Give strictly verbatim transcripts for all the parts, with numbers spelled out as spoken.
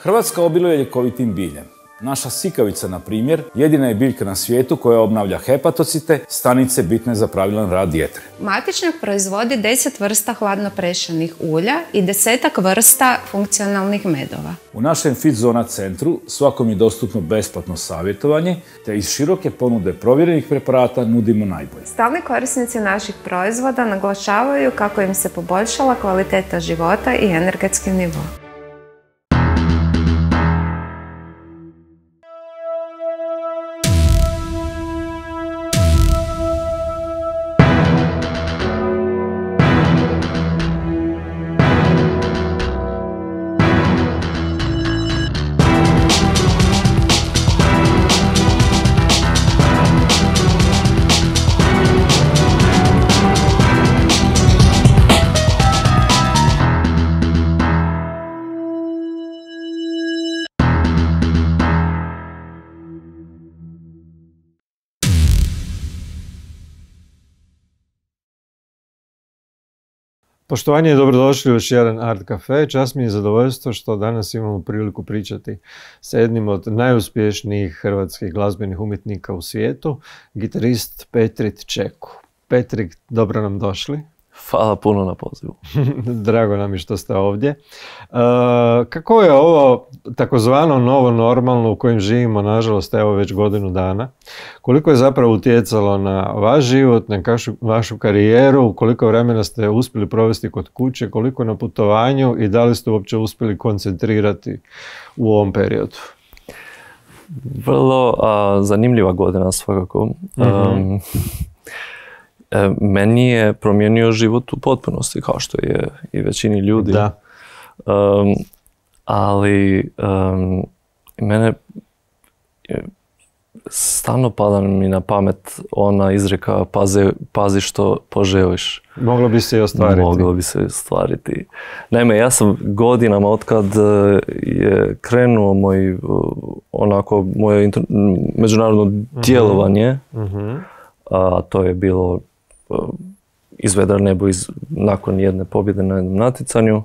Hrvatska obiluje ljekovitim biljem. Naša sikavica, na primjer, jedina je biljka na svijetu koja obnavlja hepatocite, stanice bitne za pravilan rad jetre. Matičnjak proizvodi deset vrsta hladno prešanih ulja i desetak vrsta funkcionalnih medova. U našem FitZona centru svakom je dostupno besplatno savjetovanje, te iz široke ponude provjerenih preparata nudimo najbolje. Stalni korisnici naših proizvoda naglašavaju kako im se poboljšala kvaliteta života i energetski nivo. Poštovanje i dobrodošli u još jedan Art Cafe. Čast mi je zadovoljstvo što danas imamo priliku pričati sa jednim od najuspješnijih hrvatskih glazbenih umjetnika u svijetu, gitarist Petrit Čeku. Petrik, dobro nam došli. Hvala puno na pozivu. Drago nam je što ste ovdje. E, kako je ovo takozvano novo normalno u kojem živimo, nažalost, evo već godinu dana? Koliko je zapravo utjecalo na vaš život, na kašu, vašu karijeru, koliko vremena ste uspjeli provesti kod kuće, koliko na putovanju i da li ste uopće uspjeli koncentrirati u ovom periodu? Vrlo a, zanimljiva godina svakako. Mm-hmm. Um, Meni je promijenio život u potpunosti, kao što je i većini ljudi. Da. Um, ali um, mene stalno pada mi na pamet ona izreka pazi, pazi što poželiš. Moglo bi se i ostvariti. Moglo bi se i ostvariti. Naime, ja sam godinama otkad je krenuo moj, onako, moje inter, međunarodno uh-huh. djelovanje, uh-huh. a to je bilo iz vedra nebo iz, nakon jedne pobjede na jednom natjecanju,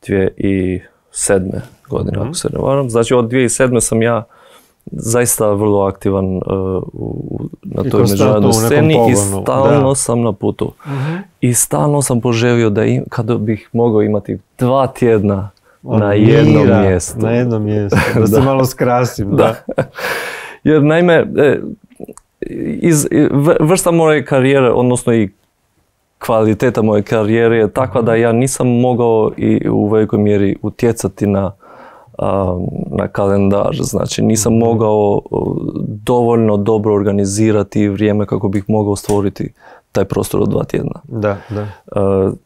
dvije tisuće sedme godine, mm-hmm. ako se ne varam. Znači od dvije tisuće sedme sam ja zaista vrlo aktivan uh, u, na toj međunarodnoj sceni i stalno da. sam na putu. Mm-hmm. I stalno sam poželio da im, kada bih mogao imati dva tjedna On na jednom mira, mjestu. Na jednom mjestu, da se malo skrasim. Da. Da. Jer naime, iz vrsta moje karijere, odnosno i kvaliteta moje karijere je takva da ja nisam mogao i u velikoj mjeri utjecati na, na kalendar. Znači nisam mogao dovoljno dobro organizirati vrijeme kako bih mogao stvoriti taj prostor od dva tjedna. Da, da.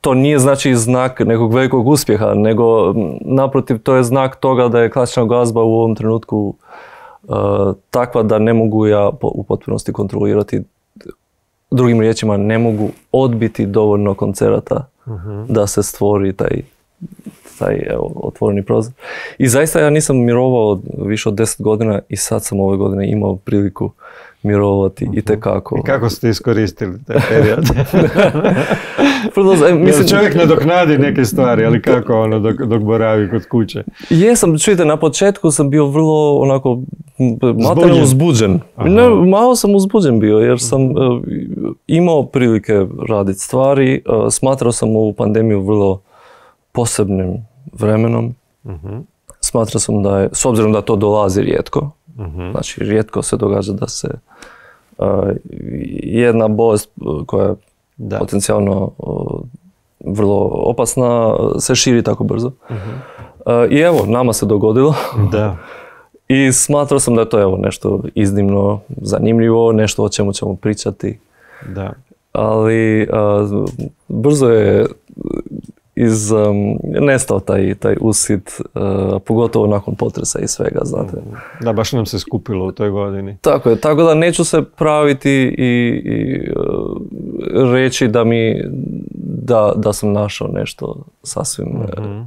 To nije znači znak nekog velikog uspjeha, nego naprotiv to je znak toga da je klasična glazba u ovom trenutku Uh, takva da ne mogu ja po, u potpunosti kontrolirati. Drugim riječima, ne mogu odbiti dovoljno koncerata uh-huh. da se stvori taj, taj evo, otvoreni prozor. I zaista ja nisam mirovao više od deset godina i sad sam ove godine imao priliku mirovati uh-huh. itekako. I kako ste iskoristili taj period? Mislim, Jel čovjek nadoknadi neke stvari, ali kako ono dok, dok boravi kod kuće? Jesam, čujte, na početku sam bio vrlo onako materijalno uzbuđen. Ne, malo sam uzbuđen bio jer sam uh, imao prilike raditi stvari. Uh, smatrao sam ovu pandemiju vrlo posebnim vremenom. Uh-huh. Smatrao sam da je, s obzirom da to dolazi rijetko, uh-huh. znači rijetko se događa da se uh, jedna bolest koja je da. potencijalno uh, vrlo opasna se širi tako brzo. Uh-huh. Uh, I evo, nama se dogodilo. Da. I smatrao sam da je to evo nešto iznimno zanimljivo, nešto o čemu ćemo pričati. Da. Ali uh, brzo je iz, um, nestao taj, taj usit, uh, pogotovo nakon potresa i svega, znate. Da, baš nam se skupilo u toj godini. Tako je, tako da neću se praviti i, i uh, reći da mi, da, da sam našao nešto sasvim uh-huh.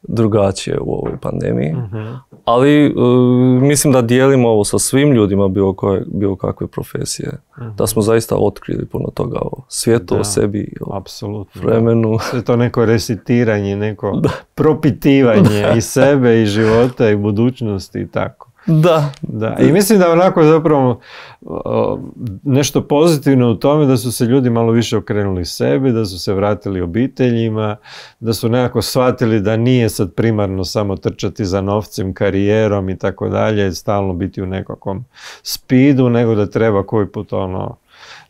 drugačije u ovoj pandemiji. Uh-huh. Ali uh, mislim da dijelimo ovo sa svim ljudima bilo, koje, bilo kakve profesije. Mm-hmm. Da smo zaista otkrili puno toga o svijetu, da, o sebi, o apsolutno, vremenu. Da. Sve to neko resitiranje, neko da. propitivanje i sebe i života i budućnosti i tako. Da. Da. I mislim da onako zapravo nešto pozitivno u tome da su se ljudi malo više okrenuli sebi, da su se vratili obiteljima, da su nekako shvatili da nije sad primarno samo trčati za novcem, karijerom i tako dalje, stalno biti u nekakvom spidu, nego da treba koji put ono,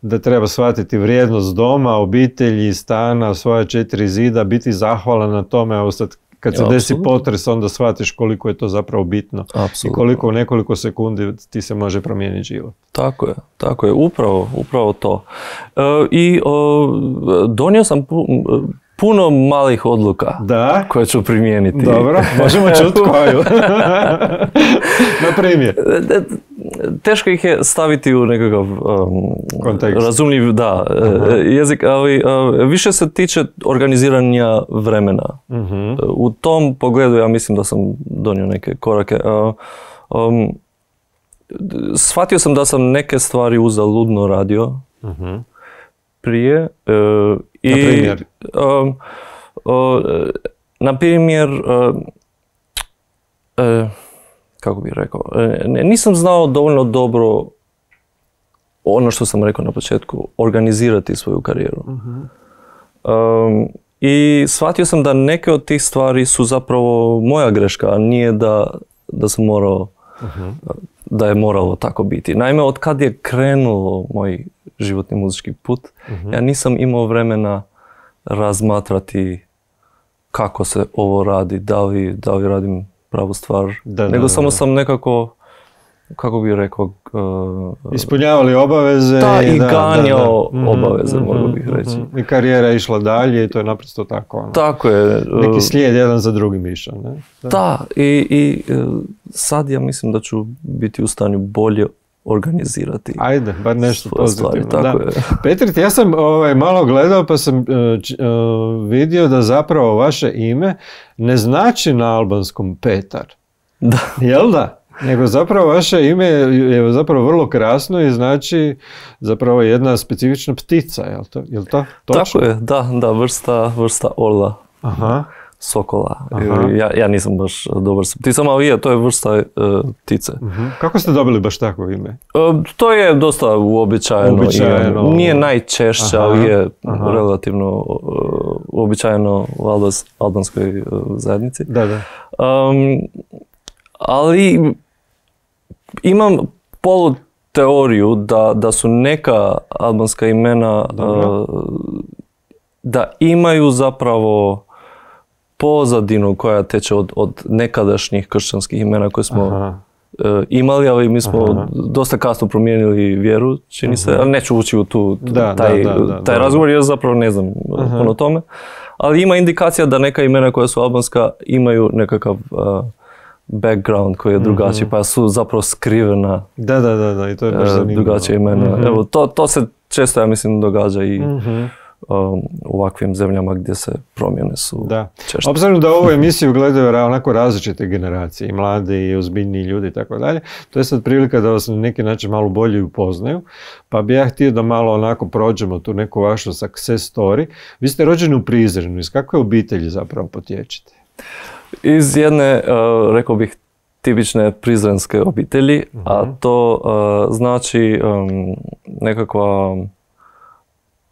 da treba shvatiti vrijednost doma, obitelji, stana, svoja četiri zida, biti zahvalan na tome, evo sad kad se ja, desi absolutno. Potres, onda shvatiš koliko je to zapravo bitno. Apsolutno. I koliko u nekoliko sekundi ti se može promijeniti život. Tako je, tako je, upravo, upravo to. E, I o, donio sam pu, puno malih odluka da? koje ću primijeniti. Dobro, možemo čuti koju. Na primjer. Teško ih je staviti u nekakav um, razumljiv da, jezik, ali uh, više se tiče organiziranja vremena. Uh-huh. U tom pogledu ja mislim da sam donio neke korake. Uh, um, shvatio sam da sam neke stvari uzaludno radio uh-huh. prije. Uh, i, na primjer? Um, uh, na primjer, uh, uh, kako bih rekao, nisam znao dovoljno dobro ono što sam rekao na početku, organizirati svoju karijeru. Uh-huh. Um, I shvatio sam da neke od tih stvari su zapravo moja greška, a nije da, da sam morao, uh-huh. da je moralo tako biti. Naime, od kad je krenulo moj životni muzički put, uh-huh. ja nisam imao vremena razmatrati kako se ovo radi, da li, da li radim pravu stvar, da, nego da, samo da. sam nekako, kako bih rekao... Uh, ispunjavali obaveze. Da, i, i ganjao da, da. obaveze, mm-hmm, mogu bih reći. Mm-hmm. I karijera je išla dalje i to je naprosto tako. Ono. Tako je. Neki slijed jedan za drugim išao. Ne? Da, da i, i sad ja mislim da ću biti u stanju bolje organizirati. Ajde, bar nešto pozitivno. Stvari, tako da. je. Petrit, ja sam ovaj, malo gledao pa sam uh, uh, vidio da zapravo vaše ime ne znači na albanskom Petar. Da. Jel da? Nego zapravo vaše ime je zapravo vrlo krasno i znači zapravo jedna specifična ptica, jel to? Jel to? Točno? Tako je, da, da, vrsta, vrsta orla. Aha. Sokola. Ja, ja nisam baš dobar sa pticama, ali je, to je vrsta uh, ptice. Uh-huh. Kako ste dobili baš takvo ime? Uh, to je dosta uobičajeno. uobičajeno. I, nije najčešće, aha, ali je aha. relativno uh, uobičajeno u albans, albanskoj uh, zajednici. Da, da. Um, ali imam polu teoriju da, da su neka albanska imena uh, da imaju zapravo pozadinu koja teče od, od nekadašnjih kršćanskih imena koje smo uh, imali, ali mi smo aha. dosta kasno promijenili vjeru, čini se, ali neću ući u tu, da, taj, da, da, da, taj da. razgovor, jer zapravo ne znam aha. puno tome. Ali ima indikacija da neka imena koja su albanska imaju nekakav uh, background koji je drugačiji, mm-hmm. pa su zapravo skrivena da, da, da, da. I to je baš zanimljivo. Drugačije imena. Mm-hmm. Evo, to, to se često, ja mislim, događa i mm-hmm. um, u ovakvim zemljama gdje se promjene su da. često. Obzirom da ovu emisiju gledaju onako različite generacije, i mlade i ozbiljniji ljudi i tako dalje, to je sad prilika da vas na neki način malo bolje upoznaju, pa bi ja htio da malo onako prođemo tu neku vašu success story. Vi ste rođeni u Prizrenu, iz kakve obitelji zapravo potječete? Iz jedne, uh, rekao bih, tipične prizrenske obitelji, uh-huh. a to uh, znači um, nekakva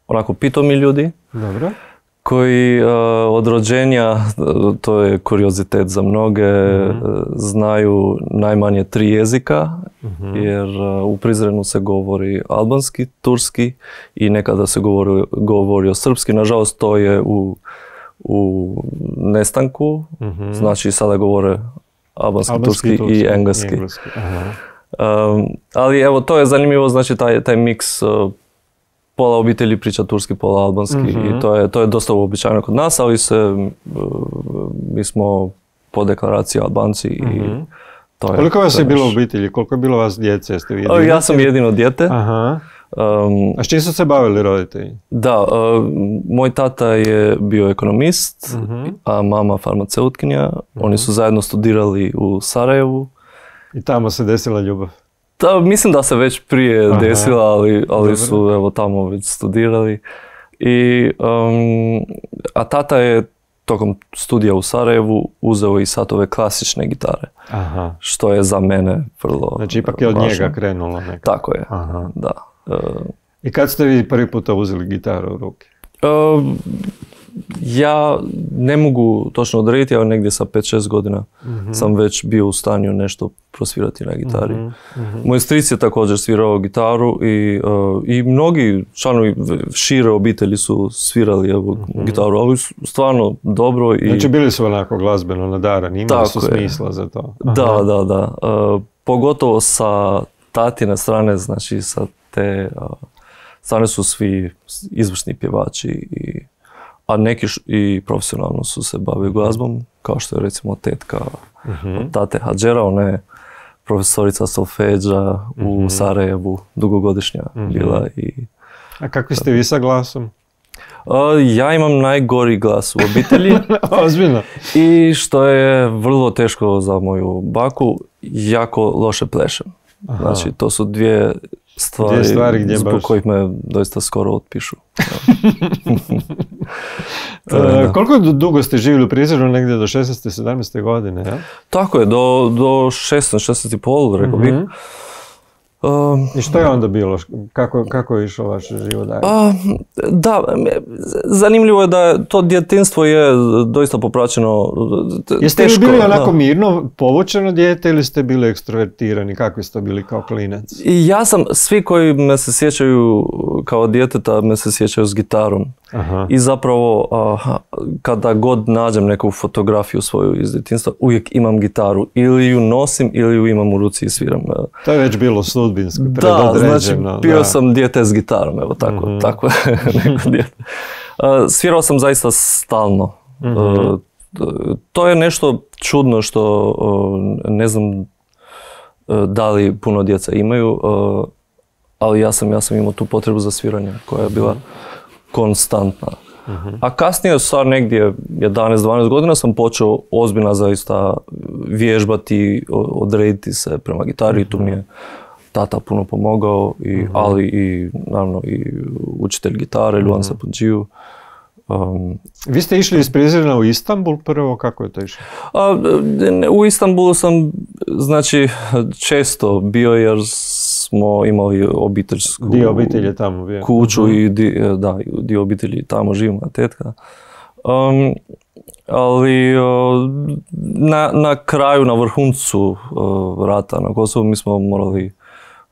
onako pitomi ljudi. Dobro. Koji uh, od rođenja, to je kuriozitet za mnoge, uh-huh. znaju najmanje tri jezika, uh-huh. jer uh, u Prizrenu se govori albanski, turski i nekada se govori, govori o srpski. Nažalost, to je u u nestanku, mm-hmm. znači sada govore albanski, albanski turski, turski i engleski. engleski. Um, ali evo, to je zanimljivo, znači taj, taj miks, uh, pola obitelji priča turski, pola albanski mm-hmm. i to je, to je dosta uobičajeno kod nas, ali se, uh, mi smo po deklaraciji Albanci mm-hmm. i to je... Koliko vas je bilo u obitelji? Koliko je bilo vas djece? Jeste vi jedino? Ja sam jedino dijete. Aha. Um, A s čim su se bavili roditelji? Da, uh, moj tata je bio ekonomist, uh-huh. a mama farmaceutkinja. Uh-huh. Oni su zajedno studirali u Sarajevu. I tamo se desila ljubav? Da, mislim da se već prije Aha. desila, ali, ali su evo, tamo već studirali. I, um, a tata je tokom studija u Sarajevu uzeo i satove klasične gitare. Aha. Što je za mene vrlo Znači ipak je od važno. njega krenulo nekako. Tako je, Aha. da. Uh, I kad ste vi prvi puta uzeli gitaru u ruke? Uh, ja ne mogu točno odrediti, ali negdje sa pet šest godina uh-huh. sam već bio u stanju nešto prosvirati na gitari. Uh-huh. Uh-huh. Moj stric je također svirao gitaru i, uh, i mnogi članovi šire obitelji su svirali evo, uh-huh. gitaru, ali stvarno dobro. I... Znači bili su onako glazbeno nadarani, imali Tako su je. smisla za to. Aha. Da, da, da. Uh, pogotovo sa tatine strane, znači sa te uh, strane su svi izvršni pjevači i a neki š, i profesionalno su se bavili glazbom, kao što je recimo tetka uh-huh. tate Hadžera, ona je profesorica solfeđa uh-huh. u Sarajevu, dugogodišnja uh-huh. bila. I, a kakvi ste vi sa glasom? Uh, ja imam najgori glas u obitelji. Ozbiljno. I što je vrlo teško za moju baku, jako loše plešem. Aha. Znači, to su dvije stvari, dvije stvari gdje zbog baš... kojih me doista skoro otpišu. To je, uh, koliko dugo ste živjeli u Prizrenu? Negdje do šesnaeste sedamnaeste godine, ja? Tako je, do, do šesnaest, šesnaest i pol, rekao bih. Uh-huh. Um, I što je onda bilo? Kako, kako je išao vaš život dalje? Uh, da, zanimljivo je da to djetinjstvo je doista popraćeno teško. Jeste li bili onako da. mirno, povučeno dijete ili ste bili ekstrovertirani? Kakvi ste bili kao klinac? I ja sam, svi koji me se sjećaju kao djeteta, me se sjećaju s gitarom. Aha. I zapravo, uh, kada god nađem neku fotografiju svoju iz djetinjstva, uvijek imam gitaru. Ili ju nosim, ili ju imam u ruci i sviram. To je već bilo sudbinsko, predodređeno. Da, znači bio da. sam dijete s gitarom, evo tako, mm-hmm. tako neko dijete. Uh, svirao sam zaista stalno. Mm-hmm. Uh, to je nešto čudno što uh, ne znam uh, da li puno djeca imaju, uh, ali ja sam, ja sam imao tu potrebu za sviranje koja je bila konstantna. Uh-huh. A kasnije, sad negdje jedanaest dvanaest godina, sam počeo ozbiljno zaista vježbati, odrediti se prema gitari. Uh-huh. Tu mi je tata puno pomogao, i, uh-huh. ali i naravno i učitelj gitare, Luan uh-huh. Sapunđiju. Um, Vi ste išli iz Prizrena u Istanbul prvo, kako je to išlo? A, u Istanbulu sam, znači, često bio jer smo imali obiteljsku dio obitelji tamo bio. kuću uh-huh. i di, da, dio obitelji tamo živi moja tetka. Um, ali uh, na, na kraju, na vrhuncu uh, rata na Kosovu mi smo morali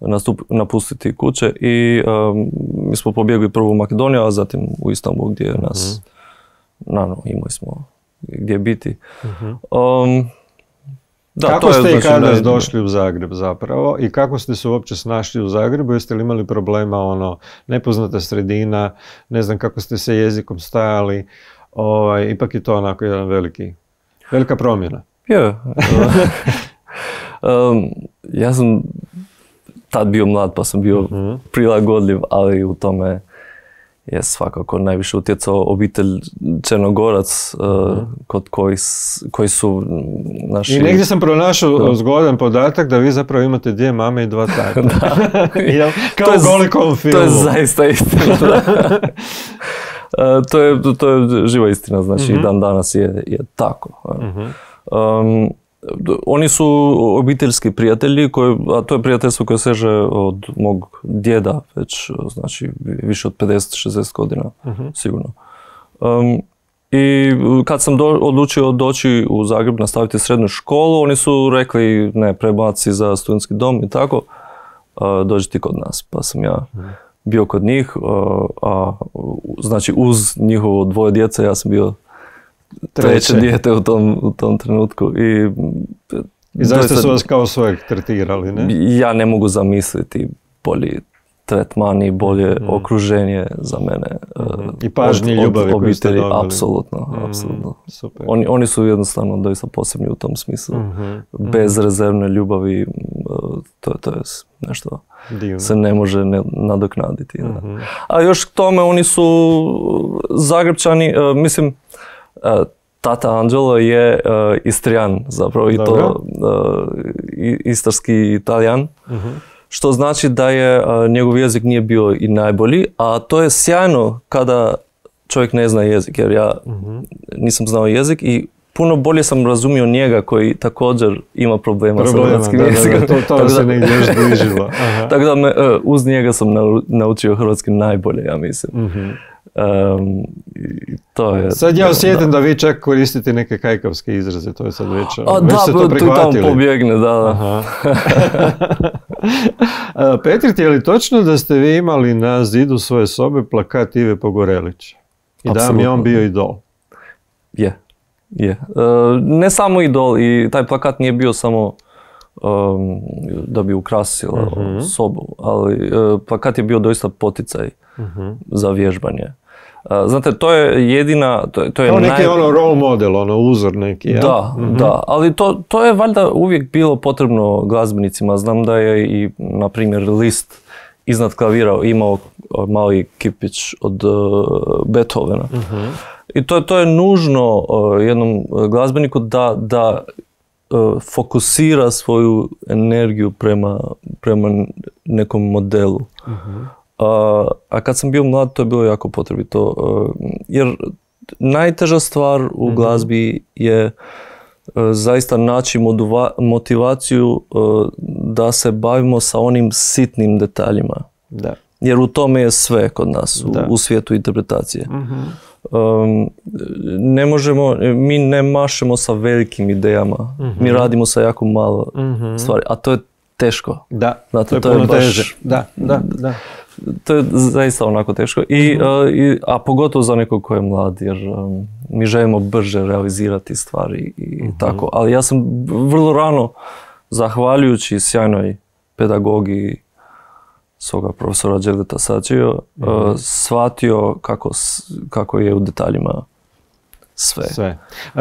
nastup, napustiti kuće i um, mi smo pobjegli prvo u Makedoniju, a zatim u Istanbul gdje je nas, uh-huh. naravno, imali smo gdje biti. Uh-huh. Um, Da, kako to ste je, i znači, kada ne... došli u Zagreb zapravo i kako ste se uopće snašli u Zagrebu? Jeste li imali problema, ono, nepoznata sredina, ne znam kako ste se jezikom stajali, ovaj, ipak je to onako jedan veliki, velika promjena. Je. um, ja sam tad bio mlad pa sam bio uh-huh. prilagodljiv, ali u tome je svakako najviše utjecao obitelj Črnogorac, uh, kod koji, koji su naši... I negdje sam pronašao da. zgodan podatak da vi zapravo imate dvije mame i dva tate. Da. Kao u Golikom filmu. To je zaista istina. uh, to, je, to je živa istina, znači uh-huh. dan danas je, je tako. Uh-huh. Um, Oni su obiteljski prijatelji, koji, a to je prijateljstvo koje seže od mog djeda već, znači više od pedeset šezdeset godina, uh-huh. sigurno. Um, I kad sam do, odlučio doći u Zagreb nastaviti srednju školu, oni su rekli ne, prebaci za studentski dom i tako, uh, dođi ti kod nas. Pa sam ja uh-huh. bio kod njih, uh, a znači uz njihovo dvoje djece ja sam bio treće dijete u tom, u tom trenutku. I, I zašto su vas kao svojeg tretirali, ne? Ja ne mogu zamisliti bolji tretman i bolje mm-hmm. okruženje za mene. Mm-hmm. I pažnje i ljubavi koju ste dobili. Apsolutno, mm-hmm. apsolutno. Super. Oni, oni su jednostavno doista posebni u tom smislu. Mm-hmm. Bezrezervne ljubavi, to, to je nešto divno. Se ne može ne, nadoknaditi. Mm-hmm. A još k tome oni su Zagrebčani, uh, mislim, uh, tata Anđelo je uh, Istrijan zapravo i Dobro. to uh, istarski Italijan. Mm-hmm. Što znači da je uh, njegov jezik nije bio i najbolji, a to je sjajno kada čovjek ne zna jezik, jer ja mm-hmm. nisam znao jezik i puno bolje sam razumio njega koji također ima problema, problema sa hrvatskim da, jezikom. Da, da, to, to se negdje još bližilo. Tako da me, uh, uz njega sam naučio hrvatski najbolje, ja mislim. Mm-hmm. Um, to je, sad ja osjetim da. da vi čak koristite neke kajkavske izraze, to je sad već, A, već da, ste to prihvatili. Tu tamo pobjegne, da, da. Petrit, je li točno da ste vi imali na zidu svoje sobe plakat Ive Pogorelića? I Absolutno. Da vam je on bio idol? Je, je. Uh, ne samo idol, i taj plakat nije bio samo um, da bi ukrasila uh-huh. sobu, ali uh, plakat je bio doista poticaj uh-huh. za vježbanje. Uh, znate, to je jedina... To je, to je Kao neki naj... ono role model, ono uzor neki, ja? Da, uh-huh. da, ali to, to je valjda uvijek bilo potrebno glazbenicima. Znam da je i, na primjer, Liszt iznad klavira imao mali kipić od uh, Beethovena. Uh-huh. I to, to je nužno uh, jednom glazbeniku da, da uh, fokusira svoju energiju prema, prema nekom modelu. Uh-huh. Uh, a kad sam bio mlad, to je bilo jako potrebito. Uh, jer najteža stvar u uh-huh. glazbi je uh, zaista naći moduva, motivaciju uh, da se bavimo sa onim sitnim detaljima. Da. Jer u tome je sve kod nas, u, u svijetu interpretacije. Uh-huh. Um, ne možemo, mi ne mašemo sa velikim idejama, uh-huh. mi radimo sa jako malo uh-huh. stvari, a to je teško. Da, Znate, to je to puno je baš, teže. Da, da, da. To je zaista onako teško, I, uh-huh. uh, i, a pogotovo za nekog ko je mlad, jer um, mi želimo brže realizirati stvari i uh-huh. tako. Ali ja sam vrlo rano, zahvaljujući sjajnoj pedagogiji svoga profesora Đevdeta Sačio, mm-hmm. uh, shvatio kako, kako je u detaljima sve. sve. Uh,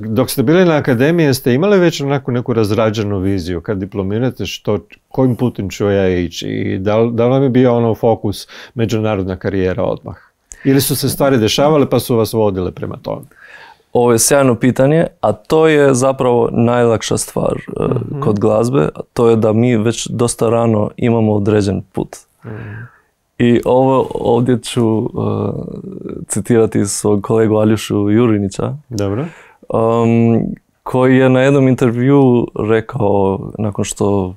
dok ste bili na akademiji, ste imali već onako neku razrađenu viziju kad diplomirate što, kojim putem ću ja ići i da li, da li vam je bio ono fokus međunarodna karijera odmah? Ili su se stvari dešavale pa su vas vodile prema tome? Ovo je sjajno pitanje, a to je zapravo najlakša stvar uh, mm-hmm. kod glazbe, a to je da mi već dosta rano imamo određen put. Mm. I ovo ovdje ću uh, citirati svog kolegu Aljušu Jurinića, Dobro. Um, koji je na jednom intervju rekao, nakon što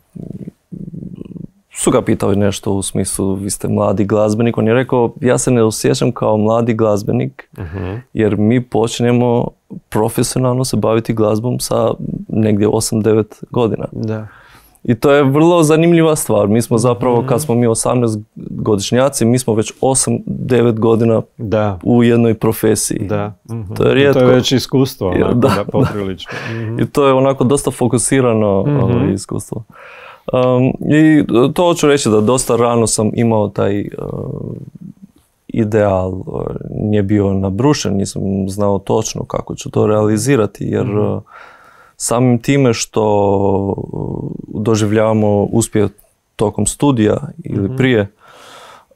su ga pitali nešto u smislu vi ste mladi glazbenik, on je rekao ja se ne osjećam kao mladi glazbenik uh-huh. jer mi počnemo profesionalno se baviti glazbom sa negdje osam devet godina. Da. I to je vrlo zanimljiva stvar. Mi smo zapravo, kad smo mi osamnaest godišnjaci, mi smo već osam devet godina da. u jednoj profesiji. Da. Uh-huh. To je rijetko. To je već iskustvo, onako, da, da, poprilično. Uh-huh. I to je onako dosta fokusirano uh-huh. iskustvo. Um, I to hoću reći da dosta rano sam imao taj uh, ideal, uh, nije bio nabrušen, nisam znao točno kako ću to realizirati, jer uh, samim time što doživljavamo uspjeh tokom studija ili mm-hmm. prije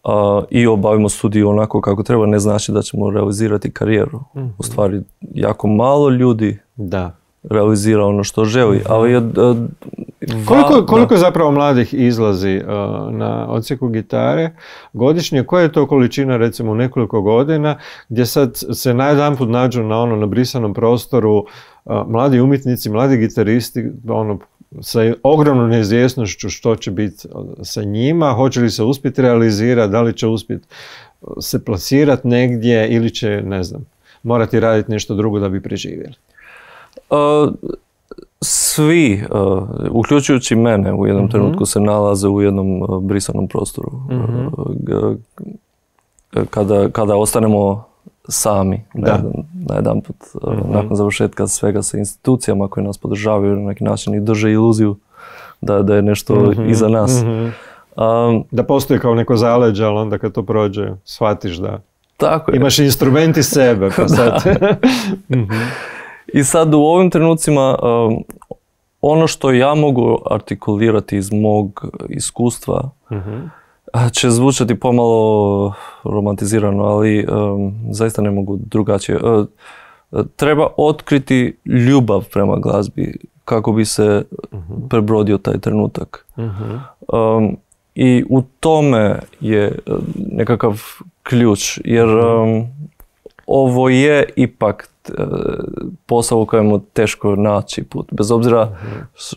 uh, i obavimo studiju onako kako treba, ne znači da ćemo realizirati karijeru. Mm-hmm. U stvari, jako malo ljudi da. realizira ono što želi, mm-hmm. ali je uh, Koliko, koliko zapravo mladih izlazi uh, na odsjeku gitare godišnje? Koja je to količina recimo u nekoliko godina gdje sad se najedanput nađu na ono na brisanom prostoru uh, mladi umjetnici, mladi gitaristi ono, sa ogromnom neizvjesnošću što će biti sa njima, hoće li se uspjeti realizirati, da li će uspjeti se plasirati negdje ili će, ne znam, morati raditi nešto drugo da bi preživjeli? Uh, Svi, uh, uključujući mene, u jednom mm-hmm. trenutku se nalaze u jednom uh, brisanom prostoru. Mm-hmm. Uh, kada, kada ostanemo sami na jedan, na jedan put, uh, mm-hmm. nakon završetka svega sa institucijama koje nas podržavaju na neki način i drže iluziju da, da je nešto mm-hmm. iza nas. Mm-hmm. Um, da postoji kao neko zaleđe, ali onda kad to prođe, shvatiš da tako je. Imaš instrument iz sebe. Pa sad. I sad u ovim trenucima um, ono što ja mogu artikulirati iz mog iskustva uh-huh. će zvučati pomalo romantizirano, ali um, zaista ne mogu drugačije. Uh, treba otkriti ljubav prema glazbi kako bi se uh-huh. prebrodio taj trenutak. Uh-huh. Um, I u tome je nekakav ključ, jer um, ovo je ipak posao u kojemu teško naći put. Bez obzira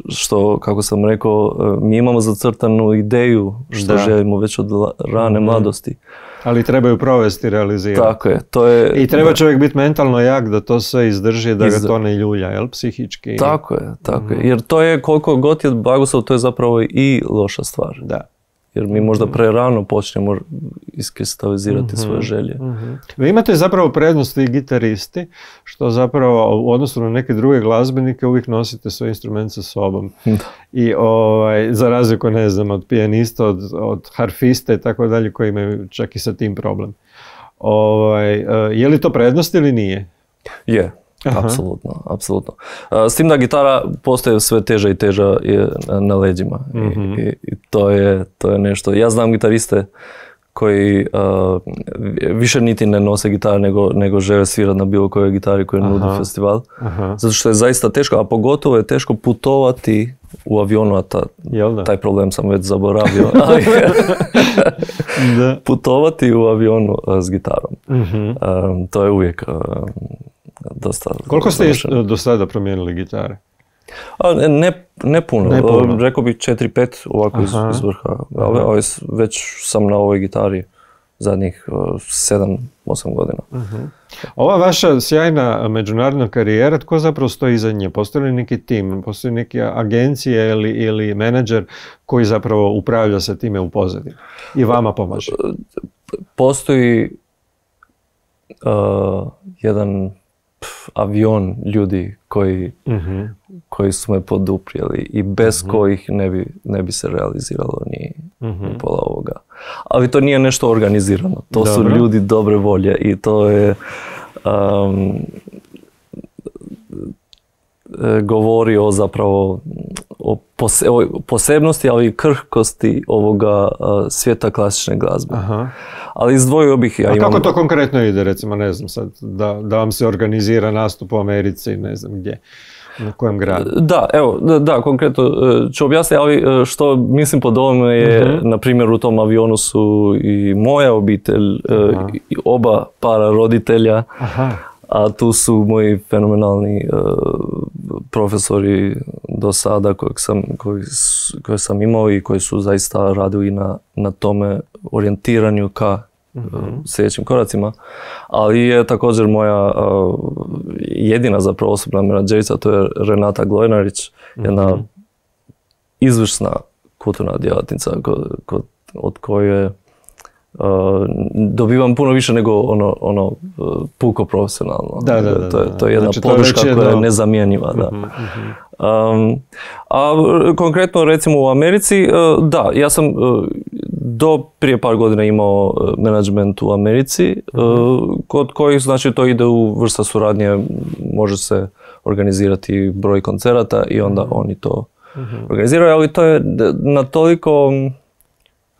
što, kako sam rekao, mi imamo zacrtanu ideju što da. želimo već od rane mm-hmm. mladosti. Ali trebaju provesti, realizirati. Tako je. To je I treba čovjek biti mentalno jak da to sve izdrži, da Iz... ga to ne ljulja, jel? Psihički. Tako je, tako mm-hmm. je. Jer to je, koliko god je blagoslov, to je zapravo i loša stvar. Da. Jer mi možda prerano počnemo iskristalizirati mm-hmm. svoje želje. Mm-hmm. Vi imate zapravo prednost i gitaristi, što zapravo u odnosu na neke druge glazbenike uvijek nosite svoj instrument sa sobom. I ovaj, za razliku, ne znam, od pijanista, od, od harfista i tako dalje, koji imaju čak i sa tim problem. Ovaj, je li to prednost ili nije? Je. Aha. Apsolutno, apsolutno. S tim da gitara postaje sve teža i teža na leđima. Mm-hmm. I, i to, je, to je nešto. Ja znam gitariste koji uh, više niti ne nose gitare nego, nego žele svirati na bilo kojoj gitari koju nudi festival. Aha. Zato što je zaista teško, a pogotovo je teško putovati u avionu, a ta, taj problem sam već zaboravio. da. Putovati u avionu uh, s gitarom. Mm-hmm. Um, to je uvijek... Uh, Dosta, Koliko ste završeno. do sada promijenili gitare? A, ne, ne puno, ne puno. Rekao bih četiri pet ovako iz, iz vrha, ali, ali već sam na ovoj gitari zadnjih sedam osam godina. Uh-huh. Ova vaša sjajna međunarodna karijera, tko zapravo stoji iza nje? Postoji li neki tim, postoji neke agencije ili, ili menadžer koji zapravo upravlja sa time u pozadini i vama pomaže? Postoji uh, jedan avion ljudi koji, uh-huh. koji su me poduprijeli i bez uh-huh. kojih ne bi, ne bi se realiziralo ni, uh-huh. ni pola ovoga. Ali to nije nešto organizirano. To Dobro. su ljudi dobre volje i to je um, govori o zapravo o, pose, o posebnosti, ali i krhkosti ovoga uh, svijeta klasične glazbe. Aha. Ali izdvojio bih... Ja A imam... kako to konkretno ide, recimo, ne znam sad, da, da vam se organizira nastup u Americi, ne znam gdje, na kojem gradu? Da, evo, da, da konkretno ću objasniti, ali što mislim pod ovome je, uh-huh. na primjer, u tom avionu su i moja obitelj, Aha. i oba para roditelja, Aha. a tu su moji fenomenalni uh, profesori do sada kojeg sam, koji, koje sam imao i koji su zaista radili na, na tome orijentiranju ka mm-hmm. uh, sljedećim koracima. Ali je također moja uh, jedina zapravo osobna menadžerica, to je Renata Glojnarić, mm-hmm. jedna izvrsna kulturna djelatnica ko, ko, od koje Uh, dobivam puno više nego ono, ono uh, puko profesionalno. Da, da, da, to, je, to je jedna znači, podrška koja jedno... je nezamjenjiva. Da. Uh-huh, uh-huh. Um, a konkretno recimo u Americi, uh, da, ja sam uh, do prije par godina imao uh, menadžment u Americi, uh-huh. uh, kod kojih znači to ide u vrsta suradnje, može se organizirati broj koncerata i onda uh-huh. oni to uh-huh. organiziraju, ali to je na toliko...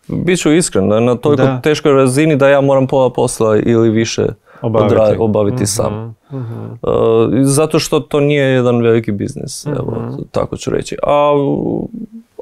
Biću iskren, na toliko da. teškoj razini da ja moram pola posla ili više obaviti, odra- obaviti uh-huh, sam. Uh-huh. Uh, zato što to nije jedan veliki biznis, uh-huh. evo, tako ću reći. A,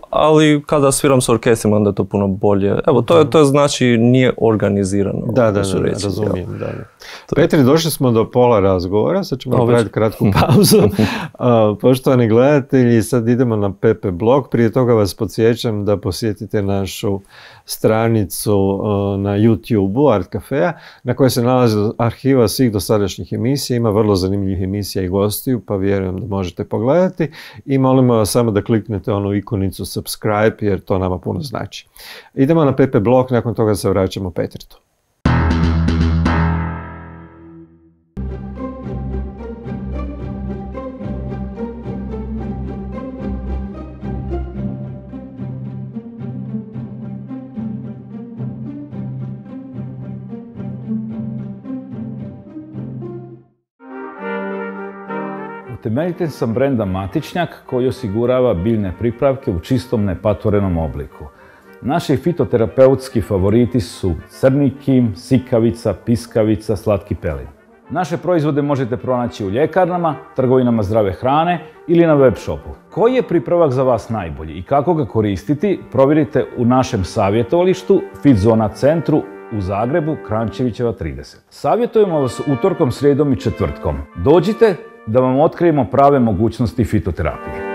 ali kada sviram s orkestrima, onda je to puno bolje. Evo, to je, to je znači nije organizirano. Da, da, da, reći, razumijem. Da, da. Petri, došli smo do pola razgovora, sad ćemo napraviti kratku pauzu. uh, poštovani gledatelji, sad idemo na Pepe blog. Prije toga vas podsjećam da posjetite našu stranicu uh, na YouTube-u Art Cafea, na kojoj se nalazi arhiva svih dosadašnjih emisija. Ima vrlo zanimljivih emisija i gostiju, pa vjerujem da možete pogledati. I molimo vas samo da kliknete onu ikonicu subscribe, jer to nama puno znači. Idemo na Pepe blog, nakon toga se vraćamo Petritu. Utemeljitelj sam brenda Matičnjak koji osigurava biljne pripravke u čistom nepatvorenom obliku. Naši fitoterapeutski favoriti su crni kim, sikavica, piskavica, slatki pelin. Naše proizvode možete pronaći u ljekarnama, trgovinama zdrave hrane ili na web shopu. Koji je pripravak za vas najbolji i kako ga koristiti, provjerite u našem savjetovalištu Fitzona centru u Zagrebu, Kranjčevićeva trideset. Savjetujemo vas utorkom, srijedom i četvrtkom. Dođite da vam otkrijemo prave mogućnosti fitoterapije.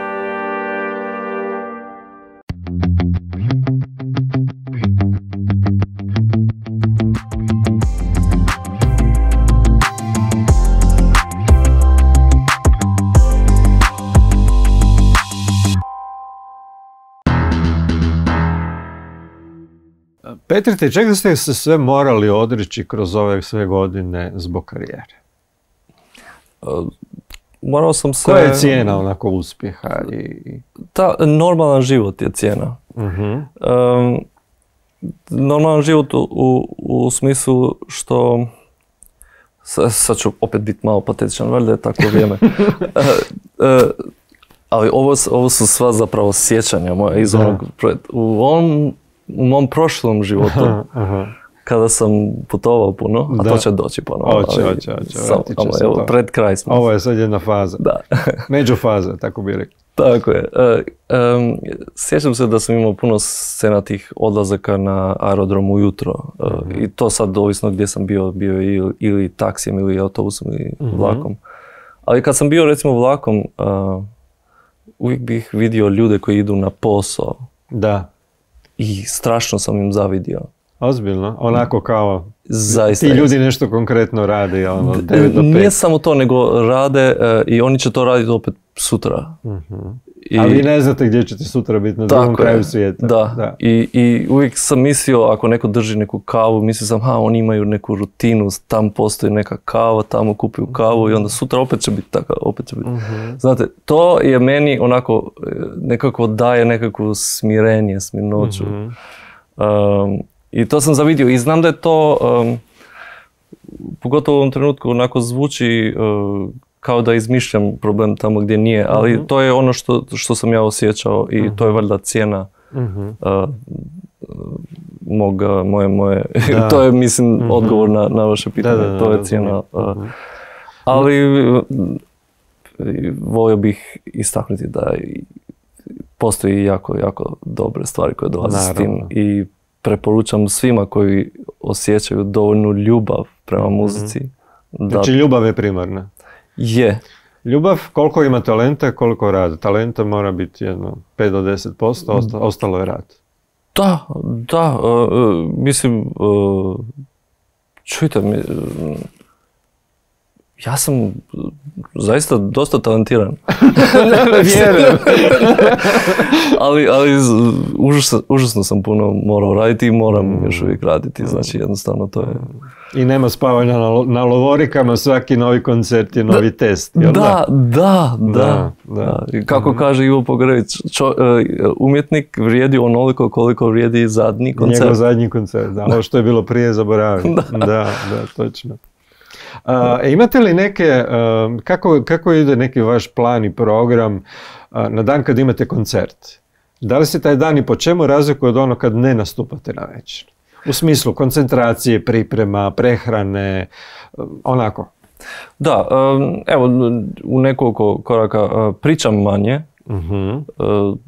Petrite, čega ste se sve morali odreći kroz ove sve godine zbog karijere? Uh, morao sam se... Koja je cijena onako uspjeha? I... Ta, normalan život je cijena. Uh-huh. Um, normalan život u, u, u smislu što... Sad ću opet biti malo patetičan, valjda je tako vrijeme. uh, uh, ali ovo, ovo su sva zapravo sjećanja moja iz onog... U ovom U mom prošlom životu, aha, aha. kada sam putovao puno, a da. To će doći ponovno. Oće, oće, oće. Samo, evo, pred kraj smo. Ovo je sad jedna faza. Da. Međufaza, tako bih rekao. Tako je. E, um, sjećam se da sam imao puno scenatih odlazaka na aerodrom ujutro. E, uh-huh. I to sad ovisno gdje sam bio, bio ili, ili taksijem, ili autobusom, ili uh-huh. vlakom. Ali kad sam bio recimo vlakom, uh, uvijek bih vidio ljude koji idu na posao. Da. I strašno sam im zavidio. Ozbiljno? Onako kao zaista ti ljudi nešto konkretno rade, ono, devet do pet. Nije samo to, nego rade uh, i oni će to raditi opet sutra. Uh-huh. I, a vi ne znate gdje ćete sutra biti, na drugom kraju svijeta. Da, da. I, i uvijek sam mislio, ako neko drži neku kavu, mislio sam, ha, oni imaju neku rutinu, tam postoji neka kava, tamo kupuju kavu i onda sutra opet će biti taka, opet će biti. Uh-huh. Znate, to je meni onako, nekako daje nekakvu smirenje, smirnoću. Uh-huh. Um, I to sam zavidio i znam da je to, um, pogotovo u ovom trenutku, onako zvuči uh, kao da izmišljam problem tamo gdje nije, ali uh-huh. to je ono što, što sam ja osjećao i uh-huh. to je valjda cijena uh-huh. uh, mog, moje, moje, to je mislim uh-huh. odgovor na, na vaše pitanje, da, da, da, to je cijena. Uh, ali uh, volio bih istaknuti da postoji jako, jako dobre stvari koje dolaze s tim i preporučam svima koji osjećaju dovoljnu ljubav prema muzici. Da... Znači ljubav je primarna? Je. Ljubav, koliko ima talenta, koliko rada. Talenta mora biti jedno pet do deset posto, ostalo je rad. Da, da. Uh, mislim, uh, čujte mi, uh, ja sam zaista dosta talentiran. Vjerujem. ali ali užasno, užasno sam puno morao raditi i moram mm. još uvijek raditi. Znači jednostavno to je... I nema spavanja na, na lovorikama, svaki novi koncert je novi da, test. Da, da, da, da, da. I kako mm-hmm. kaže Ivo Pogrević, čo, uh, umjetnik vrijedi onoliko koliko vrijedi zadnji koncert. Njegov zadnji koncert, da. Ovo što je bilo prije zaboravim. da. da, da, točno. Uh, imate li neke, uh, kako, kako ide neki vaš plan i program uh, na dan kad imate koncert? Da li se taj dan i po čemu razlikuje od ono kad ne nastupate na večer? U smislu koncentracije, priprema, prehrane, uh, onako? Da, um, evo u nekoliko koraka uh, pričam manje. Uh-huh. Uh,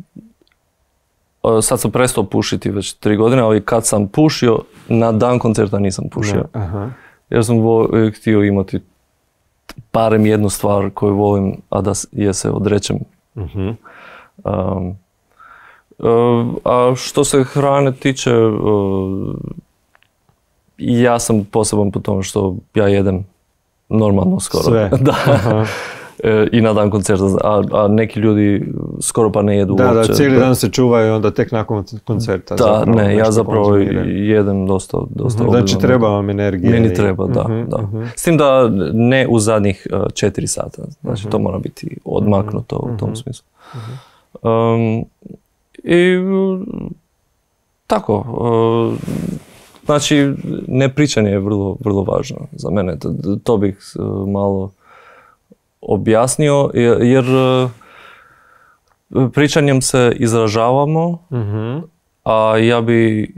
uh, sad sam prestao pušiti već tri godine, ali kad sam pušio, na dan koncerta nisam pušio. Uh-huh. Jer sam vo, htio imati barem jednu stvar koju volim, a da je se odrećem. Uh-huh. Um, uh, a što se hrane tiče, uh, ja sam poseban po tome što ja jedem normalno skoro. Sve. Da. Uh-huh. I na dan koncerta, a, a neki ljudi skoro pa ne jedu da, uopće. Da, cijeli dan se čuvaju i onda tek nakon koncerta. Da, zapravo, ne, ja zapravo konzumiram. jedem dosta, dosta uh-huh. Znači treba vam energije. Meni treba, i... da, uh-huh, da. Uh-huh. S tim da ne u zadnjih uh, četiri sata, znači uh-huh. to mora biti odmaknuto uh-huh. u tom smislu. Uh-huh. Um, I tako, uh, znači nepričanje je vrlo, vrlo važno za mene, to, to bih uh, malo objasnio, jer pričanjem se izražavamo, Mhm. a ja bi,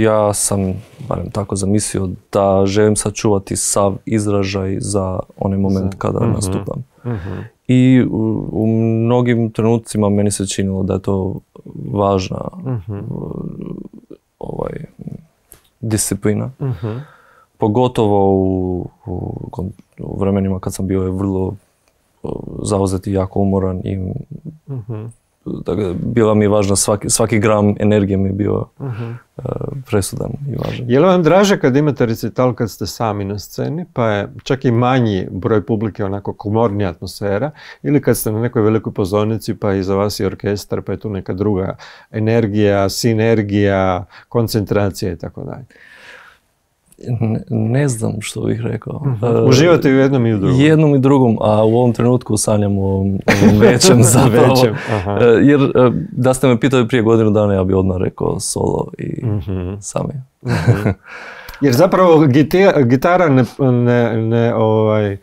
ja sam, barem tako zamislio, da želim sačuvati sav izražaj za onaj moment kada Mhm. nastupam. Mhm. I u, u mnogim trenucima meni se činilo da je to važna Mhm. ovaj, disciplina. Mhm. Pogotovo u, u, u vremenima kad sam bio vrlo zauzet i jako umoran i Mhm. dakle, bila mi je važna, svaki, svaki gram energije mi je bio Mhm. uh, presudan i važan. Je li vam draže kad imate recital kad ste sami na sceni, pa je čak i manji broj publike onako komornija atmosfera, ili kad ste na nekoj velikoj pozornici pa iza vas je orkestar pa je tu neka druga energija, sinergija, koncentracija i tako dalje? Ne, ne znam što bih rekao. Uh, Uživate i u jednom i u drugom? Jednom i drugom, a u ovom trenutku sanjam o ovom, ovom većem zapravo. Većem, aha. Uh, jer uh, da ste me pitali prije godinu dana, ja bih odmah rekao solo i Mhm. sami. Jer zapravo giti- gitara ne, ne, ne ovaj,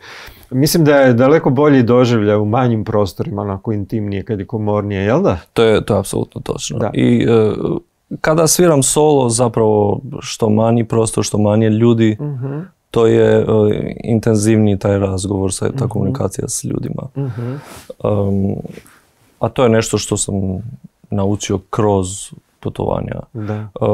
mislim da je daleko bolji doživljaj u manjim prostorima, onako intimnije, kad je komornije, jel da? To je, to je apsolutno točno. Da. I uh, kada sviram solo, zapravo što manji prostor, što manje ljudi, Mhm. to je uh, intenzivniji taj razgovor, sa, ta komunikacija s ljudima. Mhm. Um, a to je nešto što sam naučio kroz putovanja. Da. Uh,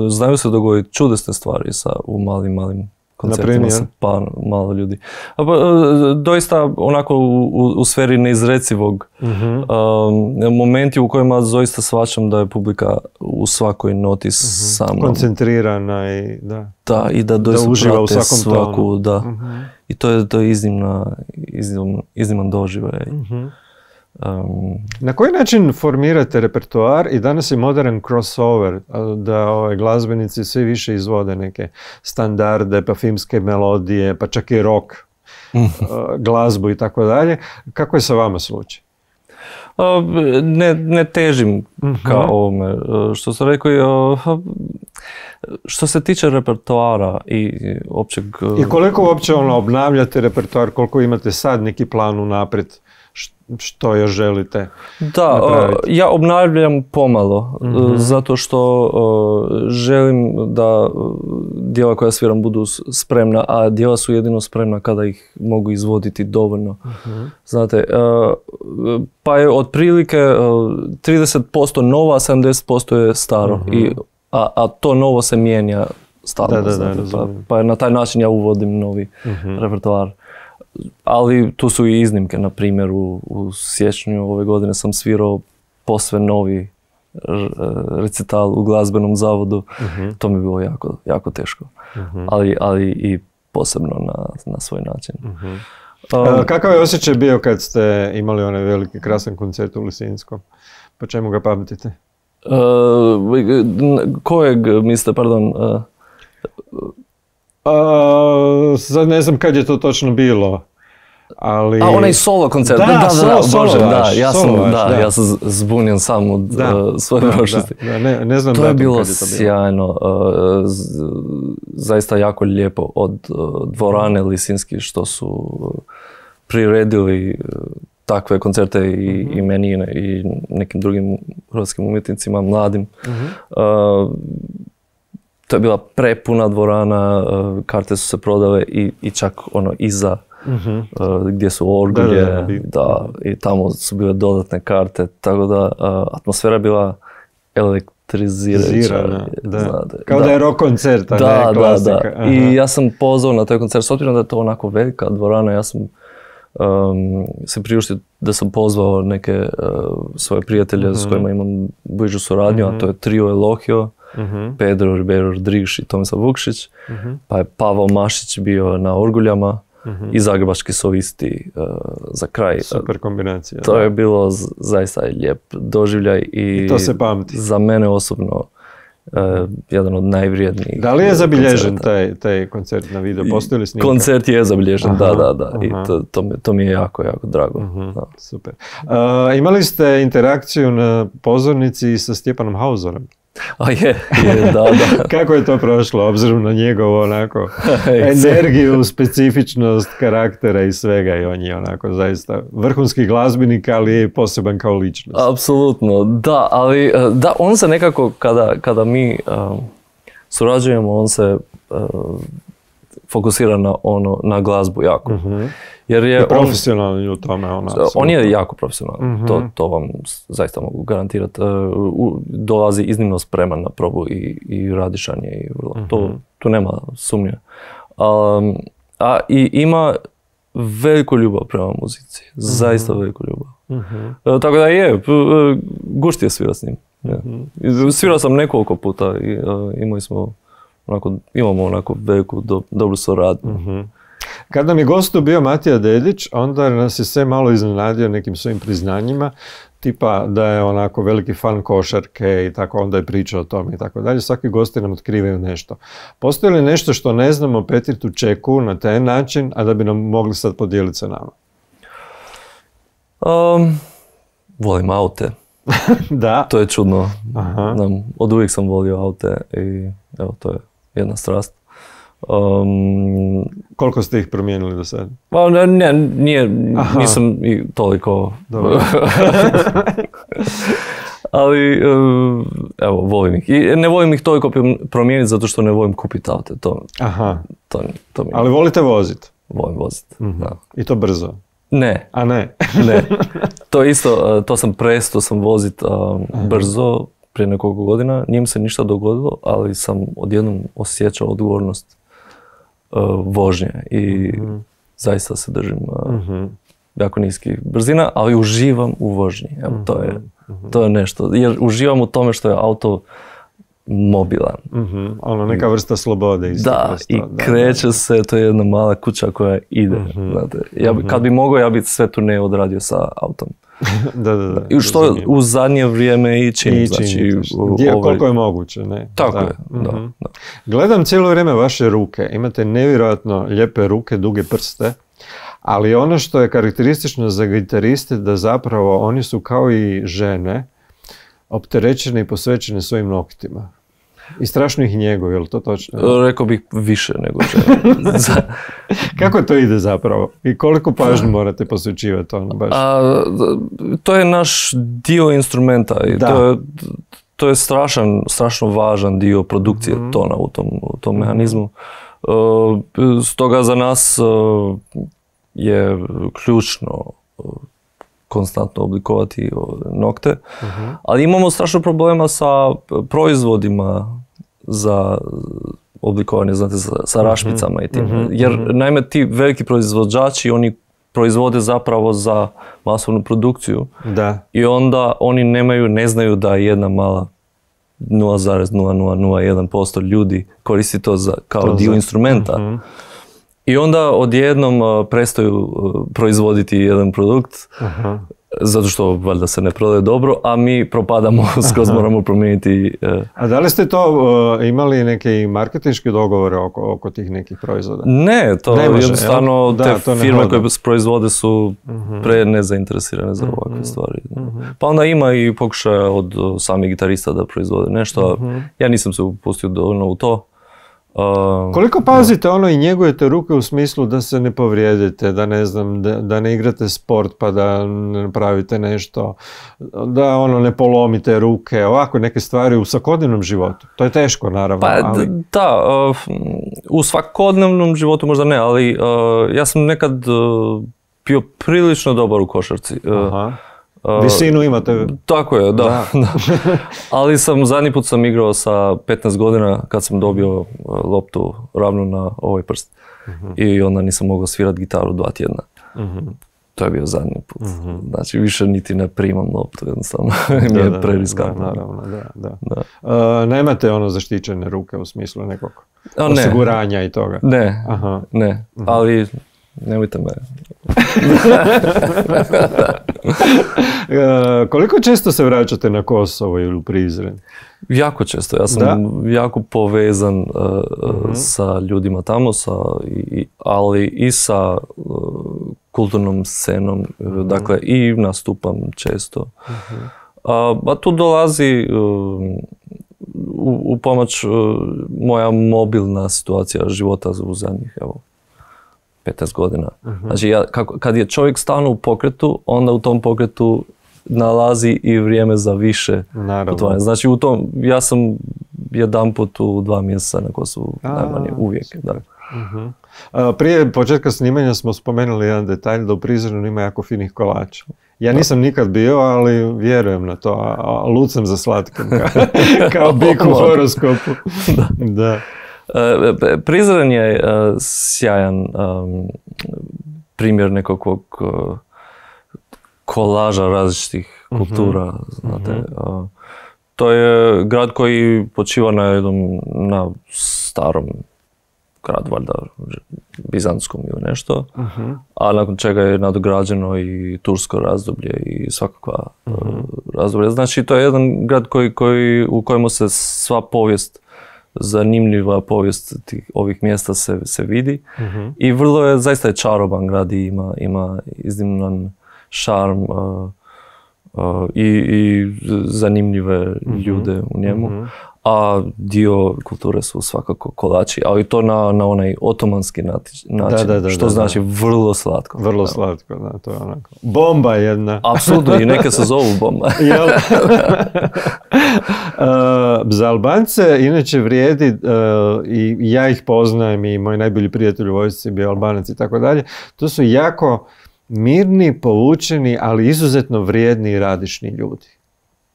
znaju se dogoditi čudesne stvari sa, u malim, malim koncertima Naprimjer? sa pa malo ljudi. A, pa, uh, doista onako u, u, u sferi neizrecivog Mhm. um, momenti u kojima doista shvaćam da je publika u svakoj noti sa mnom. Koncentrirana i da. Da, i da doista uživa u prate svakom svaku, tonu. da. Mhm. I to je, to je iznimna, iznimno, izniman doživljaj. Mhm. Um, Na koji način formirate repertoar i danas je modern crossover, a, da ovaj, glazbenici sve više izvode neke standarde, pa filmske melodije, pa čak i rock a, glazbu i tako dalje. Kako je sa vama slučaj? a, ne, ne težim ka ovome. A, Što sam rekao, a, što se tiče repertoara i općeg... I koliko uopće ono, obnavljate repertoar, koliko imate sad neki plan unaprijed, š- što još želite Da, napraviti? uh, ja obnavljam pomalo, uh, zato što uh, želim da uh, djela koja sviram budu s- spremna, a djela su jedino spremna kada ih mogu izvoditi dovoljno. Znate, uh, pa je otprilike uh, trideset posto nova, sedamdeset posto je staro, I, a, a to novo se mijenja stalno. Da, da, da, znate, pa, razumijem. pa na taj način ja uvodim novi repertoar. Ali tu su i iznimke, na primjer u, u siječnju ove godine sam svirao posve novi r- recital u glazbenom zavodu. To mi je bilo jako, jako teško, ali, ali i posebno na, na svoj način. Um, A, kakav je osjećaj bio kad ste imali onaj veliki krasan koncert u Lisinskom? Po čemu ga pamtite? uh, n- kojeg mislite, pardon, uh, A, sad ne znam kad je to točno bilo, ali... a onaj solo koncert, Da, da, da, da, solo- solo Bože, da, vaš, ja sam, solo vaš, da, da. ja sam z- zbunjen sam od Da, uh, svoje da, prošlosti. da, da, ne, ne znam To je datum bilo kad je to bilo. sjajno, uh, z- zaista jako lijepo od uh, dvorane Lisinski što su uh, priredili uh, takve koncerte i, i meni i ne- i nekim drugim hrvatskim umjetnicima, mladim. Uh, to je bila prepuna dvorana, uh, karte su se prodale i, i čak ono iza uh, gdje su orgulje, Da, da, da, bi- da, i tamo su bile dodatne karte, tako da uh, atmosfera je bila elektrizirajuća. Zirana, da. znate. Kao da, je rock koncert, a Da, ne da, klasika. da. Aha. I ja sam pozvao na taj koncert, s obzirom da je to onako velika dvorana, ja sam um, se priuštio da sam pozvao neke uh, svoje prijatelje s kojima imam bližu suradnju, a to je trio Elohio, Pedro Ribeiro Rodriguez i Tomislav Vukšić, pa je Pavao Mašić bio na orguljama i zagrebački solisti uh, za kraj. Super kombinacija. To da. je bilo z- zaista lijep doživljaj i, I to se pamti. za mene osobno uh, jedan od najvrijednijih. Da li je zabilježen koncerata. taj, taj koncert na video? Postoji li snimka? Koncert je zabilježen, Aha, da, da, da. I aha. to, to, mi, to mi je jako, jako drago. Da. Super. A, imali ste interakciju na pozornici sa Stjepanom Hauzorom? A je, je, da, da. Kako je to prošlo, obzirom na njegovu onako energiju, specifičnost karaktera i svega, i on je onako zaista vrhunski glazbenik, ali je poseban kao ličnost. Apsolutno, da, ali da, on se nekako, kada, kada mi um, surađujemo, on se uh, fokusira na, ono, na glazbu jako. Uh-huh. Jer je I profesionalni u tome. On, on je jako profesionalni, uh-huh. to, to vam zaista mogu garantirati. Uh, dolazi iznimno spreman na probu i, i radišanje. I, uh-huh. to, tu nema sumnje. Um, a i ima veliku ljubav prema muzici. Zaista uh-huh. veliku ljubav. Uh-huh. Uh, tako da je, uh, gušt je svira s njim. Uh-huh. Svirao sam nekoliko puta i uh, imali smo onako, imamo onako veliku do, dobru suradnju. Uh-huh. Kad nam je gostu bio Matija Dedić, onda nas je sve malo iznenadio nekim svojim priznanjima, tipa da je onako veliki fan košarke i tako, onda je pričao o tome i tako dalje. Svaki gosti nam otkrivaju nešto. Postoji li nešto što ne znamo o Petri Tučeku na taj način, a da bi nam mogli sad podijeliti sa nama? Um, volim aute. Da. To je čudno. Aha. Od uvijek sam volio aute i evo, to je jedna strast. Um, Koliko ste ih promijenili do sada? Pa ne, ne nije, nisam i toliko. Dobro. Ali, evo, volim ih. I ne volim ih toliko promijeniti zato što ne volim kupiti aute. To, Aha. To, to mi... Ali volite voziti? Volim voziti, mm-hmm. da. I to brzo? Ne. A ne? Ne. To isto, to sam prestao sam voziti um, brzo prije nekoliko godina. Nije mi se ništa dogodilo, ali sam odjednom osjećao odgovornost uh, vožnje i mm-hmm. zaista se držim uh, mm-hmm. jako niskih brzina, ali uživam u vožnji. Evo, mm-hmm. to, je, to je nešto. Jer uživam u tome što je auto mobilan. Mm-hmm. Ono, neka vrsta slobode. Isto da, vrsta. i da, kreće da. se, to je jedna mala kuća koja ide. Mm-hmm. Znate. Ja, mm-hmm. Kad bi mogao, ja bi sve tu ne odradio sa autom. da, da, da. I što razumijem. U zadnje vrijeme i činim. I znači, Gdje, ovaj... Koliko je moguće, ne? Tako da. je, da, mm-hmm. da. Gledam cijelo vrijeme vaše ruke. Imate nevjerojatno lijepe ruke, duge prste. Ali ono što je karakteristično za gitariste, da zapravo oni su kao i žene, opterećene i posvećene svojim noktima. I strašno ih njeguju, je li to točno? Rekao bih više nego žene. Kako to ide zapravo? I koliko pažnje morate posvećivati ono baš? A, to je naš dio instrumenta i to je, to je strašan, strašno važan dio produkcije mm-hmm. tona u tom, u tom mm-hmm. mehanizmu. Uh, stoga za nas uh, je ključno uh, konstantno oblikovati nokte, uh-huh. ali imamo strašno problema sa proizvodima za oblikovanje, znate, sa, sa rašpicama uh-huh. i tim. Uh-huh. Jer, naime, ti veliki proizvođači, oni proizvode zapravo za masovnu produkciju da. I onda oni nemaju, ne znaju da jedna mala nula zarez nula nula nula jedan posto ljudi koristi to za, kao to dio za. Instrumenta. Uh-huh. I onda odjednom uh, prestaju uh, proizvoditi jedan produkt, uh-huh. zato što valjda se ne prodaje dobro, a mi propadamo, skroz moramo promijeniti. Uh, a da li ste to uh, imali neke marketinške dogovore oko, oko tih nekih proizvoda? Ne, to ne može, jednostavno da, te to firme koje proizvode su uh-huh. pre nezainteresirane za ovakve uh-huh. stvari. Uh-huh. Pa onda ima i pokušaja od uh, samih gitarista da proizvode nešto. Uh-huh. Ja nisam se upustio dovoljno u to. Uh, Koliko pazite no. ono i njegujete ruke u smislu da se ne povrijedite, da ne znam, da, da ne igrate sport pa da ne napravite nešto, da ono ne polomite ruke, ovako neke stvari u svakodnevnom životu. To je teško naravno. Pa ali... da, uh, u svakodnevnom životu možda ne, ali uh, ja sam nekad uh, bio prilično dobar u košarci. Uh, Aha. Visinu imate. Tako je, da. da. da. Ali sam, zadnji put sam igrao sa petnaest godina kad sam dobio loptu ravno na ovaj prst. Uh-huh. I onda nisam mogao svirati gitaru dva tjedna. Uh-huh. To je bio zadnji put. Uh-huh. Znači više niti ne primam loptu, jednostavno. Mi je preriskantno. Naravno, da, da. da. Uh, nemate ono zaštićene ruke u smislu nekog A, osiguranja ne. I toga? Ne, Aha. ne. Uh-huh. Ali nemojte me. uh, koliko često se vraćate na Kosovo ili u Prizren? Jako često. Ja sam da? jako povezan uh, uh-huh. sa ljudima tamo, sa, i, ali i sa uh, kulturnom scenom. Uh-huh. Dakle, i nastupam često. Uh-huh. Uh, a tu dolazi uh, u, u pomoć uh, moja mobilna situacija života u zadnjih, evo, petnaest godina. Uh-huh. Znači, ja, kako, kad je čovjek stalno u pokretu, onda u tom pokretu nalazi i vrijeme za više putovanja. Znači, u tom, ja sam jedan put u dva mjeseca na Kosovu, najmanje, uvijek. Da. Uh-huh. A, prije početka snimanja smo spomenuli jedan detalj da u Prizrenu ima jako finih kolača. Ja nisam nikad bio, ali vjerujem na to, a, a lud sam za slatkim, kao, kao bik u horoskopu. Da. Da. E, Prizren je uh, sjajan um, primjer nekakvog uh, kolaža različitih kultura, uh-huh. znate. Uh, to je grad koji počiva na jednom, na starom grad, valjda bizantskom ili nešto, uh-huh. a nakon čega je nadograđeno i tursko razdoblje i svakakva uh-huh. razdoblja. Znači, to je jedan grad koji, koji, u kojemu se sva povijest, zanimljiva povijest tih, ovih mjesta se, se vidi uh-huh. i vrlo je, zaista je čaroban grad i ima, ima izniman šarm uh, uh, i, i zanimljive uh-huh. ljude u njemu. Uh-huh. A dio kulture su svakako kolači, ali to na, na onaj otomanski način, da, da, da, što da, znači da. vrlo slatko. Vrlo slatko, da, to je onako. Bomba jedna. Apsolutno, i neke se zovu bomba. Jel? uh, za Albance inače vrijedi, uh, i ja ih poznajem i moji najbolji prijatelji u vojsci, bio Albanac i tako dalje, to su jako mirni, povučeni, ali izuzetno vrijedni i radišni ljudi.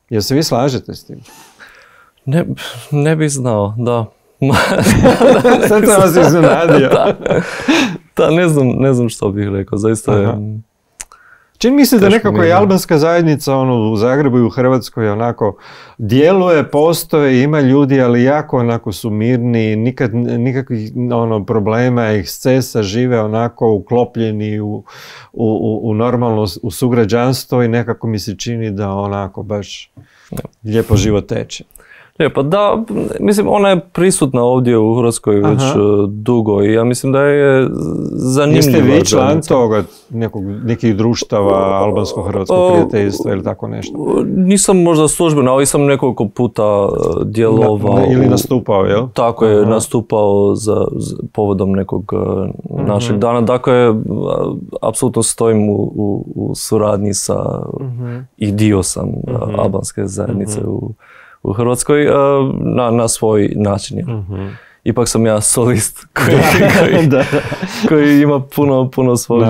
Jel se vi slažete s tim? Ne, ne bi znao, da. Sad sam vas iznenadio. Da, da ne, znam, ne znam što bih rekao, zaista je... Čini mi se da nekako je albanska zajednica ono, u Zagrebu i u Hrvatskoj onako djeluje, postoje, ima ljudi, ali jako onako su mirni, nikad, nikakvih ono, problema, ekscesa, žive onako uklopljeni u, u, u normalno u sugrađanstvo i nekako mi se čini da onako baš lijepo život teče. Lijepo, da, mislim, ona je prisutna ovdje u Hrvatskoj već Aha. dugo i ja mislim da je zanimljiva. Jeste vi član toga, nekog, nekih društava, albansko-hrvatskog prijateljstva ili tako nešto? Nisam možda službeno, ali sam nekoliko puta djelovao. Na, ili nastupao, jel? Tako je, Aha. nastupao za, za povodom nekog našeg uh-huh. dana. Dakle, apsolutno stojim u, u, u suradnji sa uh-huh. i dio sam uh-huh. albanske zajednice uh-huh. u u Hrvatskoj na, na svoj način. Uh-huh. Ipak sam ja solist koji, koji, koji ima puno, puno svog.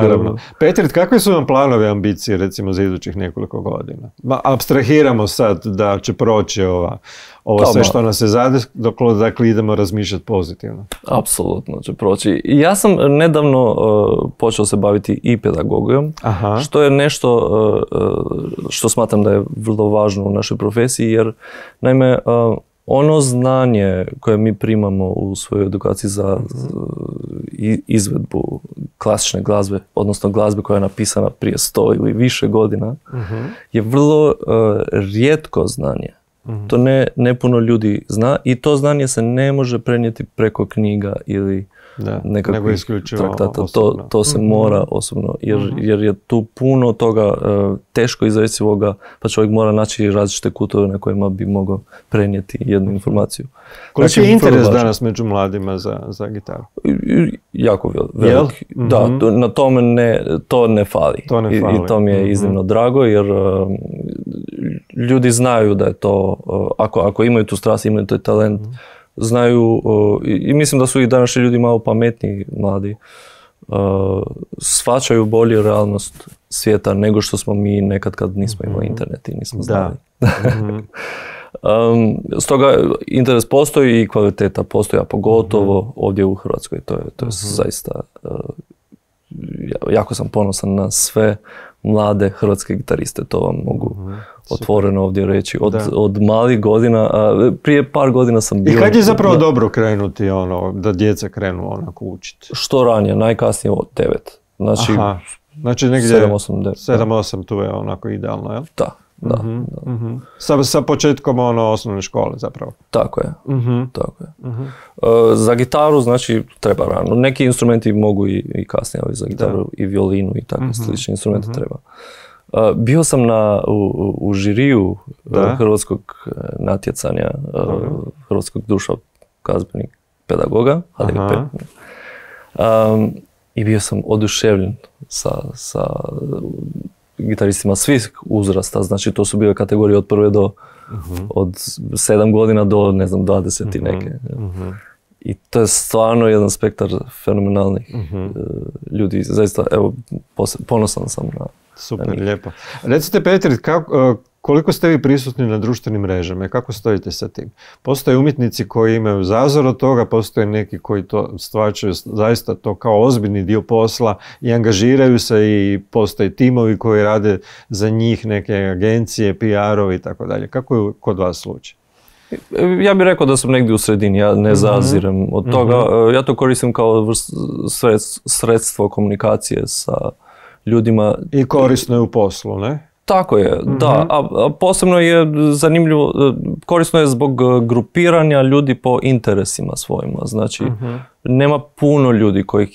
Petrit, kakve su vam planovi, ambicije recimo za idućih nekoliko godina? Ma, abstrahiramo sad da će proći ova, ovo sve što nas se zade, dok dakle, idemo razmišljati pozitivno. Apsolutno će proći. Ja sam nedavno uh, počeo se baviti i pedagogijom, Aha. što je nešto uh, što smatram da je vrlo važno u našoj profesiji, jer naime uh, ono znanje koje mi primamo u svojoj edukaciji za uh-huh. izvedbu klasične glazbe, odnosno glazbe koja je napisana prije sto ili više godina, uh-huh. je vrlo uh, rijetko znanje. Uh-huh. To ne, ne puno ljudi zna i to znanje se ne može prenijeti preko knjiga ili da, nekakvih traktata. To, to se uh-huh. mora osobno, jer, uh-huh. jer je tu puno toga uh, teško izrecivoga, pa čovjek mora naći različite kutove na kojima bi mogao prenijeti jednu informaciju. Koliki znači, je interes danas među mladima za, za gitaru? Jako velik. Mm-hmm. Da, to, na tome ne, to ne fali. To ne fali. I, i to mi je mm-hmm. iznimno drago, jer uh, ljudi znaju da je to, uh, ako, ako imaju tu strast, imaju taj talent, mm-hmm. znaju, uh, i, i mislim da su i današnji ljudi malo pametniji mladi, uh, shvaćaju bolje realnost svijeta nego što smo mi nekad kad nismo imali mm-hmm. internet i nismo znali. Mm-hmm. Um, stoga interes postoji i kvaliteta postoji, a pogotovo mm-hmm. ovdje u Hrvatskoj. To je, to je mm-hmm. zaista, uh, jako sam ponosan na sve mlade hrvatske gitariste, to vam mogu mm-hmm. otvoreno ovdje reći. Od, od malih godina, uh, prije par godina sam bio... I kad je zapravo da, dobro krenuti, ono, da djeca krenu onako učiti? Što ranije, najkasnije od devet. Znači, Aha. znači negdje sedam osam devet. sedam osam tu je onako idealno, jel? Da. Da, uh-huh, da. Uh-huh. Sa, sa početkom ono osnovne škole zapravo. Tako je. Uh-huh. Tako je. Uh-huh. Uh, za gitaru znači treba rano. Neki instrumenti mogu i, i kasnije, ali za gitaru da. I violinu i takve uh-huh. slične instrumente uh-huh. treba Bio sam na, u, u žiriju Da. hrvatskog natjecanja, hrvatskog društva glazbenih pedagoga, H D G P. Um, I bio sam oduševljen sa, sa gitaristima svih uzrasta, znači to su bile kategorije od prve do, uh-huh. od sedam godina do, ne znam, dvadeset i neke. Uh-huh. I to je stvarno jedan spektar fenomenalnih uh-huh. ljudi. Zaista, evo, ponosan sam na... Super, na lijepo. Recite, Petri, kako, koliko ste vi prisutni na društvenim mrežama i kako stojite sa tim? Postoje umjetnici koji imaju zazor od toga, postoje neki koji to stvarčaju zaista to kao ozbiljni dio posla i angažiraju se i postoje timovi koji rade za njih, neke agencije, P R-ovi i tako dalje. Kako je kod vas slučaj? Ja bih rekao da sam negdje u sredini, ja ne zazirem od toga. Mm-hmm. Ja to koristim kao sredstvo komunikacije sa ljudima. I korisno je u poslu, ne? Tako je, mm-hmm. da. A, a posebno je zanimljivo, korisno je zbog grupiranja ljudi po interesima svojima. Znači, mm-hmm. nema puno ljudi koji,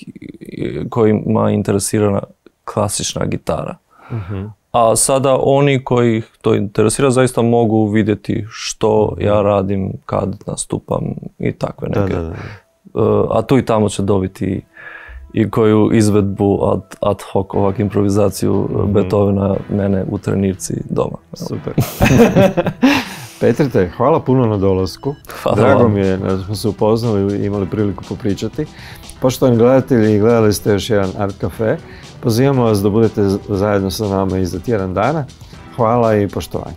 kojima je interesirana klasična gitara. Mm-hmm. A sada oni koji to interesira zaista mogu vidjeti što ja radim, kad nastupam i takve neke. Da, da, da. A tu i tamo će dobiti i koju izvedbu ad, ad hoc, ovak improvizaciju mm-hmm. Beethovena mene u trenirci doma. Super. Petrite, hvala puno na dolasku. Hvala Drago vam. mi je da smo se upoznali i imali priliku popričati. Poštovani gledatelji, gledali ste još jedan Art Cafe. Pozivamo vas da budete zajedno sa nama i za tjedan dana. Hvala i poštovanje.